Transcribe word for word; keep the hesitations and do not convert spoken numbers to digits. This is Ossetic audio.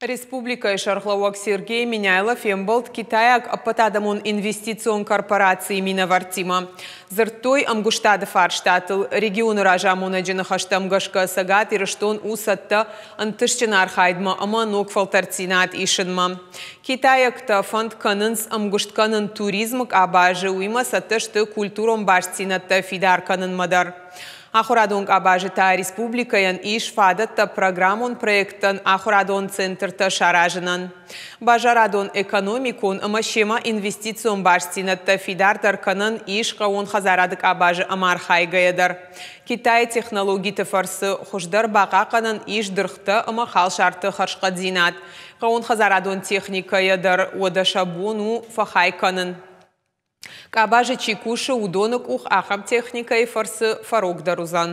Республикӕйы сӕргълӕууӕг Сергей Меняйло фембӕлд китайаг ӕппӕтадӕмон инвестицион корпорацийы минӕвӕрттимӕ. Дзырдтой ӕмгуыстады фарстатыл. Регионы разамонӕджы ныхӕстӕм гӕсгӕ Цӕгат Ирыстон у цӕттӕ ӕнтыстджын архайдмӕ ӕмӕ ног фӕлтӕрддзинад исынмӕ. Китайӕгтӕ фӕнд кӕнынц ӕмгуыст кӕнын туризмы къабазы, уыимӕ цӕттӕ сты культурон бастдзинӕдтӕ фидар кӕнынмӕ дӕр. Ахуырадон къабазы та республикӕйӕн ис фадӕттӕ программон проекттӕн ахуырадон центртӕ саразынӕн. Базарадон-экономикон ӕмӕ семӕ инвестицион бастдзинӕдтӕ фидардӕр кӕнӕн ис хъӕууон хӕдзарады къабазы ӕмархайгӕйӕ дӕр. Китайы технологиты фӕрцы хуыздӕр бахъахъхъӕнӕн ис дыргътӕ ӕмӕ халсарты хӕрзхъӕддзинад. Хъӕууонхӕдзарадон техникӕйӕ дӕр уӕдӕ сӕ бон у фӕхай кӕнын. Къабазы чи кусы, уыдоны къух ахӕм техникӕйы фӕрцы фӕрогдӕр уыдзӕн.